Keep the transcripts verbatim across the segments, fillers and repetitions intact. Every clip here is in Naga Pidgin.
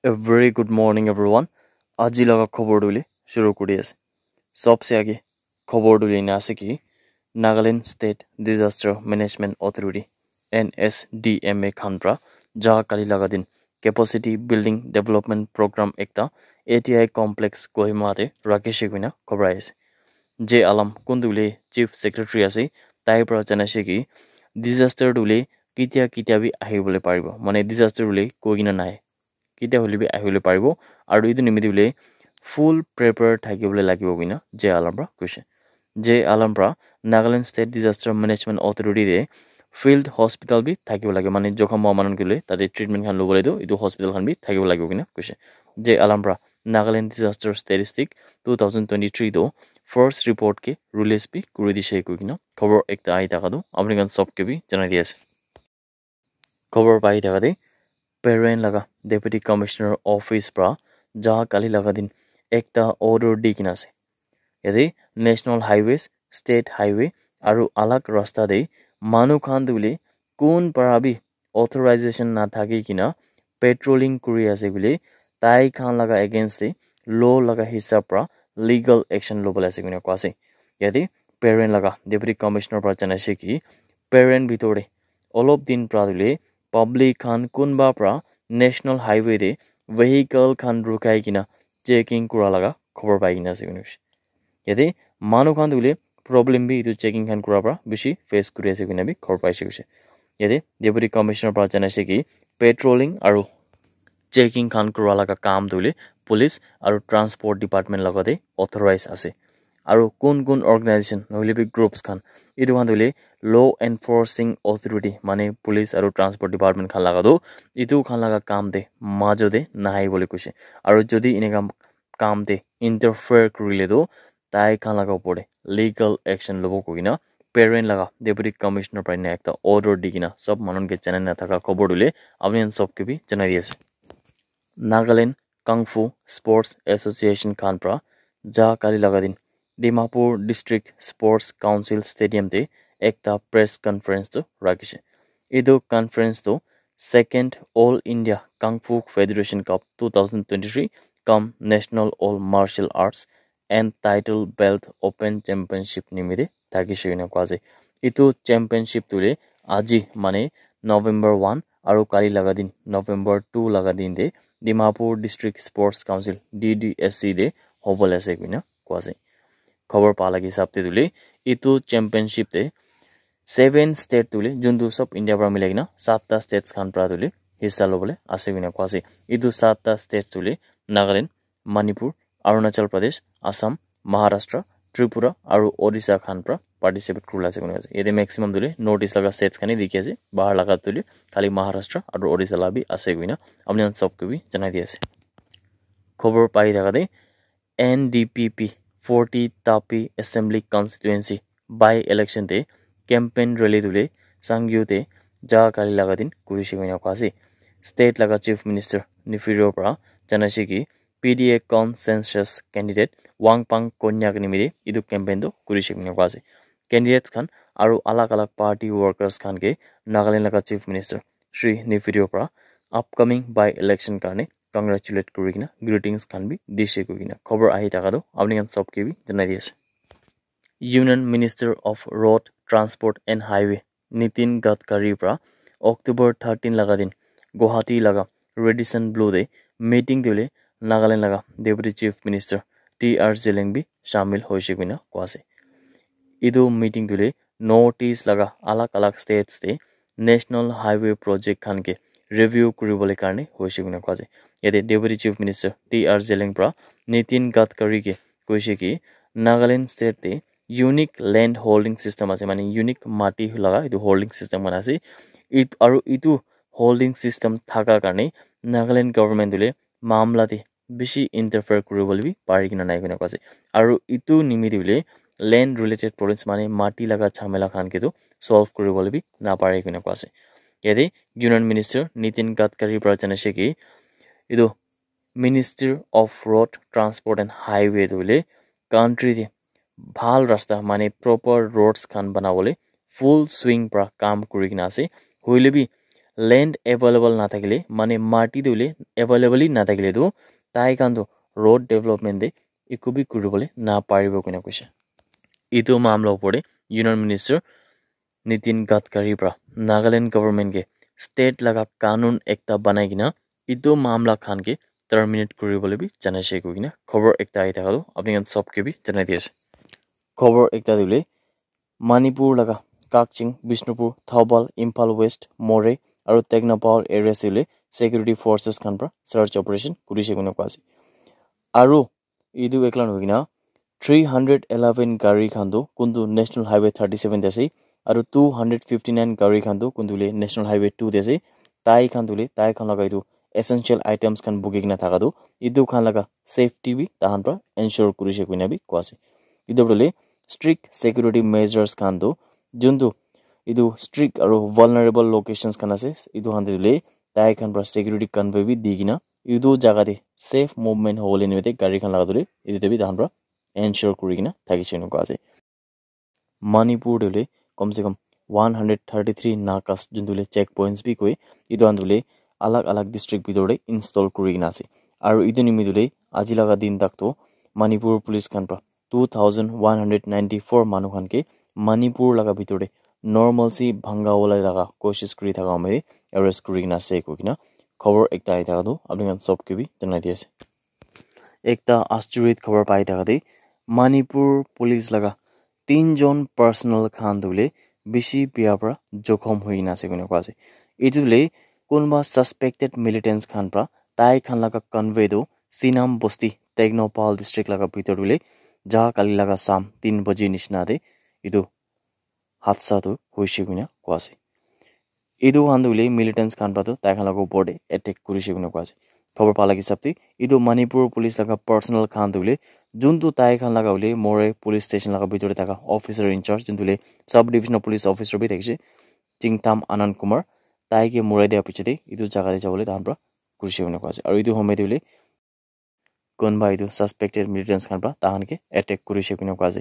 A very good morning, everyone. Aji laga khobor tu hoile shuru kuri ase. Sobse age khobor tu hoile ena ase ki Nagaland State Disaster Management Authority, N S D M A, khan pra ja kali laga din Capacity Building Development Program ekta A T I Complex Kohima te rakhishe koina khobor ahi ase. J Alam, kun tu hoile Chief Secretary ase, tai pra janaise ki disaster tu hoile ketia ketia bi ahibole paribo, mane disaster tu hoile koi kena nai, ketia hoile bi ahibole paribo, aru etu nimite hoile full prepare thakibole lagibo koina J Alam pra koise. J Alam pra Nagaland State Disaster Management Authority te field hospital bi thakibo lage, mane jokhom hua manu khan ke hoile tate treatment khan lobole tu etu hospital khan bi thakibo lagibo koina koise. J Alam pra Nagaland Disaster Statistic two thousand twenty-three tu first report ke release bi kuri dishe koi kena khobor ekta ahi thaka tu apni khan sob ke bi janai di ase. Khobor pai thaka te Peren laga Deputy Commissioner Office pra ja kali laga din ekta order di kena ase. Yate National Highways, State Highway aru alag rasta te manu khan tu hoile kun para bi authorization na thaki kena patrolling kuri ase koile tai khan laga against te law laga hisab pra legal action lobole ase koina koa ase. Yate Peren laga Deputy Commissioner pra janaise ki Peren bitor te olop din pra tu hoile public khan kunba pra National Highway te vehicle khan rukai kena checking kura laga khobor pai kena ase koina koise. Yate manu khan tu hoile problem bi etu checking khan kura pra bishi face kuri ase koina bi khobor paise koise. Yate Deputy Commissioner pra janaise ki patrolling aru checking khan kura laga kam tu hoile police aru transport department laga te authorize ase. Aru kun kun organization nohoile bi groups khan, etu khan tu hoile law enforcing authority, mane police aru transport department khan laga tu etu khan laga kam te majo te nahai bole koise. Aru jodi eneka kam te interfere kurile tu tai khan laga opor te legal action lobo koina Peren laga Deputy Commissioner pra ena ekta order di kena sob manu ke janai na thaka khobor tu hoile apni khan sob ke bi janai di ase. Nagaland Kung Fu Sports Association khan pra ja kali laga din Dimapur District Sports Council Stadium te ekta press conference tu rakhishe. Etu conference tu second All India Kung Fu Federation Cup two thousand twenty-three cum National All Martial Arts and Title Belt Open Championship nimite thakishe koina koa ase. Etu championship tu hoile aji mane November one aru kali laga din November two laga din te Dimapur District Sports Council, D D S C, te hobole ase koina koa ase. Khobor pa laga hisab te tu hoile etu championship te seven state tu hoile juntu sob India pra milai kena satta states khan pra tu hoile hissa lobole ase koina koa ase. Etu satta states tu hoile Nagaland, Manipur, Arunachal Pradesh, Assam, Maharashtra, Tripura aru Odisha khan pra participate kurila ase koina ase. Yate maximum tu hoile North East laga states khan he dikhi ase, bahar laga tu hoile khali Maharashtra aru Odisha la bi ase koina apni khan sob ke bi janai di ase. Khobor pai thaka te N D P P forty Tapi Assembly Constituency by election te campaign rally tu hoile Sangyu te ja kali laga din kurishe koina koa ase. State laga Chief Minister Neiphiu Rio pra janaise ki P D A consensus candidate Wangpang Konyak nimite etu campaign tu kurishe koina koa ase. Candidates khan aru alag alag party workers khan ke Nagaland laga Chief Minister Shri Neiphiu Rio pra upcoming by election karne congratulate kuri kena greetings khan bi dishe koi kena khobor ahi thaka tu apni khan sob ke bi janai di ase. Union Minister of Road Transport and Highway Nitin Gadkari pra October thirteen laga din Guwahati laga Radisson Blu te meeting te hoile Nagaland laga Deputy Chief Minister T R Zeliang bi shamil hoise koina koa ase. Etu meeting tu hoile North East laga alag alag states te National Highway project khan ke review kuribole karne hoise koina koa ase. Yate Deputy Chief Minister T R Zeliang pra Nitin Gadkari ke koise ki Nagaland state te unique land holding system ase, mane unique mati laga etu holding system khan ase. It, aru etu holding system thaka karne Nagaland government tu hoile mamla te bishi interfere kuribole bi pari kena nai koina koa ase. Aru etu nimite hoile land related problems, mane mati laga jhamela khan ke tu solve kuribole bi napare koina koa ase. Yate Union Minister Nitin Gadkari pra janaise ki etu Minister of Road Transport and Highway tu hoile country te bhal rasta, mane proper roads khan banabole full swing pra kam kuri kena ase. Hoile bi land available nathakile, mane mati tu hoile available hi nathakile tu, tai khan tu road development te eku bi kuribole naparibo koina koise. Etu mamla opor te Union Minister Nitin Gadkari pra Nagaland government ke state laga kanun ekta banai kena etu mamla khan ke terminate kuribole bi janai ase koikena khobor ekta ahi thaka tu apni khan sob ke bi janai di ase. Khobor ekta tu hoile Manipur laga Kakching, Bishnupur, Thoubal, Imphal West, Moreh aru Tengnoupal areas te hoile security forces khan pra search operation kurise koina koa ase. Aru etu ekla nohoi kena three hundred eleven gari khan tu kuntu National Highway thirty seven te ase aru two hundred fifty nine gari khan tu kuntu le National Highway two te ase. Tai khan tu le tai khan laga etu essential items khan buki kena thaka tu etu khan laga safety bi tahan pra ensure kurise koina bi koa ase. Etu hoile strict security measures khan tu juntu etu strict aru vulnerable locations khan ase etu khan te hoile tai khan pra security convoy bi di kena etu jaga te safe movement hobole nimite gari khan laga tu le etu te bi tahan pra ensure kuri kena thakise koina koa ase. Manipur te hoile kom se kom one hundred thirty three nakas juntu hoile check points bi koi etu khan tu hoile alag alag district bitor te install kuri kena ase. Aru etu nimite hoile aji laga din tak tu Manipur police khan pra two thousand one hundred ninety four manu khan ke Manipur laga bitor te normalcy bhanga wala laga koshish kuri thaka hoile arrest kuri kena ase koikena khobor ekta ahi thaka tu apni khan sob ke bi janai di ase. Ekta aschoriot khobor pai thaka te Manipur police laga tinjon personnel khan tu hoile bishi bia pra jokhom hoi kena ase koina koa ase. Etu hoile kunba suspected militants khan pra tai khan laga convoy tu Sinam Bosti, Tengnoupal district laga bitor te hoile ja kali laga sam tin baji nishina te etu hadsa tu hoise koina koa ase. Etu khan tu hoile militants khan pra tu tai khan laga opor te attack kurise koina koa ase. Khobor pa laga hisab te etu Manipur police laga personnel khan tu hoile juntu tai khan laga hoile Moreh police station laga bitor te thaka officer in charge juntu hoile sub divisional police officer bi thakise Chingtham Anand Kumar tai ke morai dia piche te etu jaga te jabole tahan pra kurise koina koa ase. Aru etu homoi te hoile kunba etu suspected militants khan pra tahan ke attack kurise koina koa ase.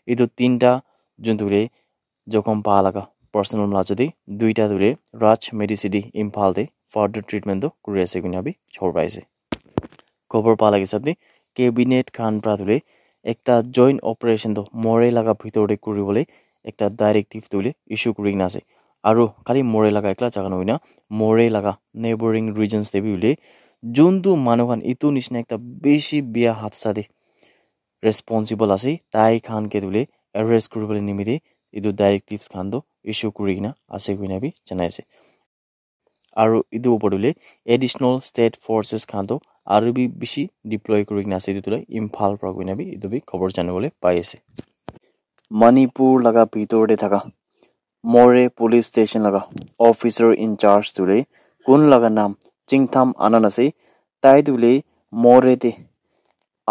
Etu tinta juntu hoile jokhom pa laga personnel majo te duita tu hoile Raj Medicity Imphal te further treatment tu kuri ase koina bi khobor pai ase. Khobor pa laga hisab te cabinet khan pra tu hoile ekta joint operation tu Moreh laga bitor te kuribole ekta directive tu hoile issue kuri kena ase. Aru khali Moreh laga ekla jaga nohoi na Moreh laga neighboring regions te bi hoile juntu manu khan etu nishina ekta bishi bia hadsa te responsible ase tai khan ke tu hoile arrest kuribole nimite etu directives khan tu issue kuri kena ase koina bi janai ase. Aru etu opor te hoile additional state forces khan tu aru bi bishi deploy kuri kena ase etu tu hoile Imphal pra koina bi etu bi khobor janibole pai ase. Manipur laga bitor te thaka Moreh police station laga officer in charge tu hoile kun laga naam Chingtham Anand ase tai tu hoile Moreh te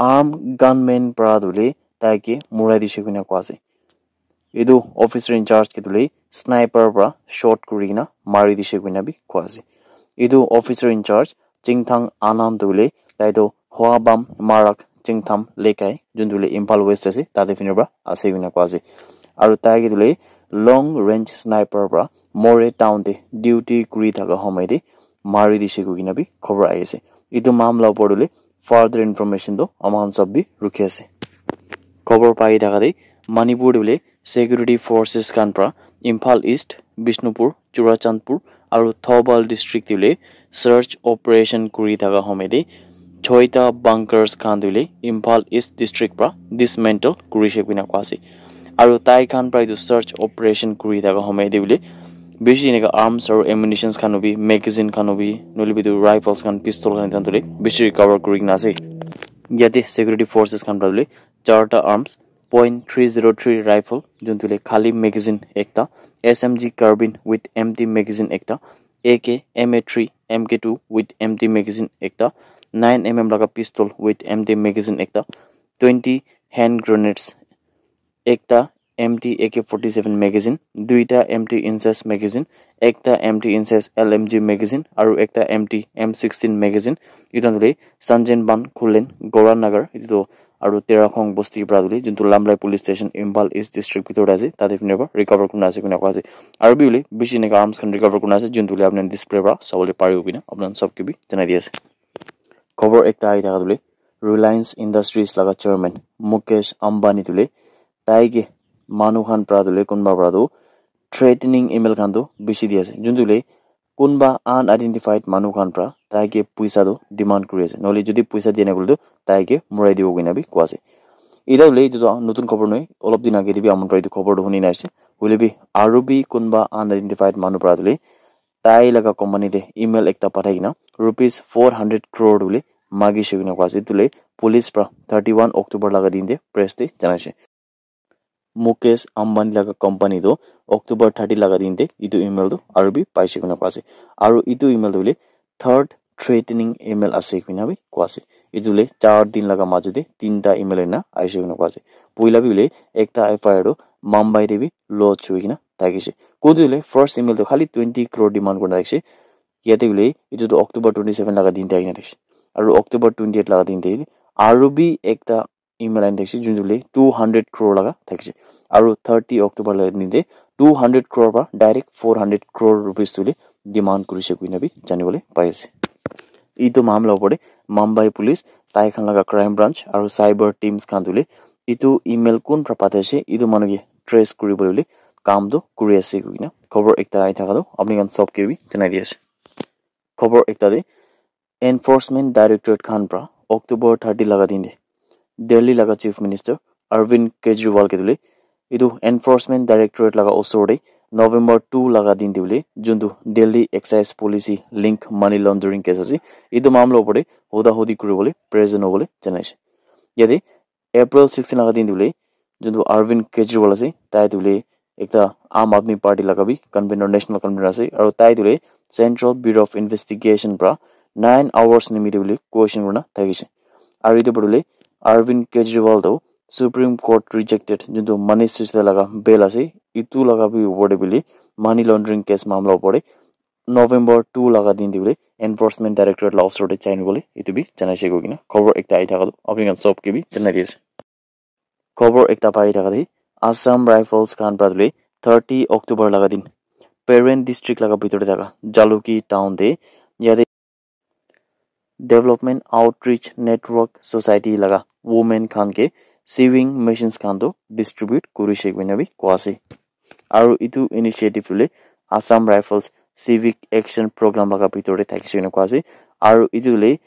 armed gunmen pra tu hoile tai ke morai dise koina koa ase. Etu officer in charge ke tu hoile sniper pra shot kuri kena mari dise koina bi koa ase. Etu officer in charge Chingtham Anand tu hoile tai tu Hoabam Marak Chingtham Lekai juntu hoile Imphal West ase tate phine pra ase koina koa ase. Aru tai ke tu hoile long range sniper pra Moreh town te duty kuri thaka homoi te mari dise koikena bi khobor ahi ase. Etu mamla opor te hoile further information tu ama khan sob bi rukhi ase. Khobor pai thaka te Manipur te hoile security forces khan pra Imphal East, Bishnupur, Churachandpur aru Thoubal district te hoile search operation kuri thaka homoi te choita bunkers khan tu hoile Imphal East district pra dismantle kurise koina koa ase. Aru tai khan pra etu search operation kuri thaka homoi te hoile bishi enika arms aru ammunitions khan bi, magazine khan bi, nohoile bi etu rifles khan, pistol khan etu khan tu hoile bishi recover kuri kena ase. Yate security forces khan pra hoile charta arms, point three zero three rifle juntu hoile khali magazine ekta, S M G carbine with empty magazine ekta, A K, M A three, M K two with empty magazine ekta, nine M M laga pistol with empty magazine ekta, twenty hand grenades ekta, empty A K forty seven magazine, duita empty inches magazine, ekta empty inches L M G magazine aru ekta empty M sixteen magazine. Etu khan tu hoile Sanjen Ban Khullen, Gora Nagar, etu tu aru Terakhong bosti para tu hoile juntu Lamlai police station Imphal East district bitor te ase, tate phine para recover kurina ase koina koa ase. Aru bi hoile bishi eneka arms khan recover kurina ase, juntu hoile apni khan display para sabole paribo koina apni khan sob ke bi janai di ase. Khobor ekta ahi thaka tu hoile Reliance Industries laga chairman Mukesh Ambani tu hoile tai ke manu khan para tu hoile kunba para tu threatening email khan tu bishi di ase, juntu hoile kunba unidentified manu khan para tai ke puisa tu demand kuri ase, nohole jodi puisa dia nai koile tu tai ke murai dibo koina bi koa ase. Ita hoile itu tu notun khobor nohoi, olop din age te bi amon para itu khobor tu huni na ase. Hoile bi aru bi kunba unidentified manu para tu hoile tai laga company te email ekta pathai kena rupees four hundred crore tu hoile magi shey koina koa ase. Itu hoile police para thirty one October laga din te press te janai ase. Mukesh Ambani laga company tu October thirty laga din te itu email tu aru bi paise koina koa ase. Aru itu email tu hoile third threatening email ase koina bi koa ase. Itu hoile char din laga majo te tinta email ena aise koina koa ase. Poila bi hoile ekta F I R tu Mumbai te bi lodge hoi kena thakishe. Kuntu hoile first email tu khali twenty crore demand kurina thakishe. Yate hoile itu tu October twenty seven laga din te ahina thakishe. Aru October twenty eight laga din te aru bi ekta email aina thakishe, juntu hoile two hundred crore laga thakishe. Aru thirty October laga din te two hundred crore para direct four hundred crore rupees tu hoile demand kurishe koina bi janibole pai ase. Itu mamla opor te Mumbai police, tai khan laga crime branch aru cyber teams khan tu hoile itu email kun para pathai ase, itu manu ke trace kuribole hoile kam tu kuri ase koina khobor ekta ahi thaka tu apni khan sob ke bi janai di ase. Khobor ekta te Enforcement Directorate khan para October thirty laga din te Delhi laga Chief Minister Arvind Kejriwal ke tu hoile itu Enforcement Directorate laga osor te November two laga din te hoile juntu Delhi Excise Policy link money laundering case ase, itu mamla opor te hoda hodi kuribole present hobole janai ase. Yate April sixteen laga din te hoile juntu Arvind Kejriwal ase, tai tu hoile ekta Aam Aadmi Party laga bi convener, national convener ase, aru tai tu hoile Central Bureau of Investigation para nine hours nimite hoile question kurina thakishe. Aru itu para hoile Arvind Kejriwal tu Supreme Court rejected juntu Manish Sisodia laga bail ase, itu laga bi opor te hoile money laundering case mamla opor te November two laga din te hoile Enforcement Directorate la osor te jai nibole itu bi janai ase koina khobor ekta ahi thaka tu apni khan sob ke bi janai di ase. Khobor ekta pai thaka te Assam Rifles khan para tu hoile thirty October laga din Peren district laga bitor te thaka Jalukie town te yate Development Outreach Network Society laga women khan ke sewing machines khan tu distribute kurishe koina bi koa ase. Aru itu initiative tu hoile Assam Rifles Civic Action Program laga bitor te thakishe koina koa ase. Aru itu hoile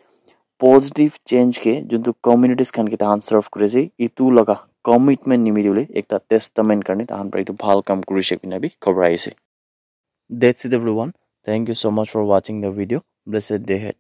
positive change ke juntu communities khan ke tahan serve kuri ase, itu laga commitment nimite hoile ekta testament karne tahan para itu bhal kam kurishe koina bi khobor ahi ase. That's it, everyone. Thank you so much for watching the video. Blessed day ahead.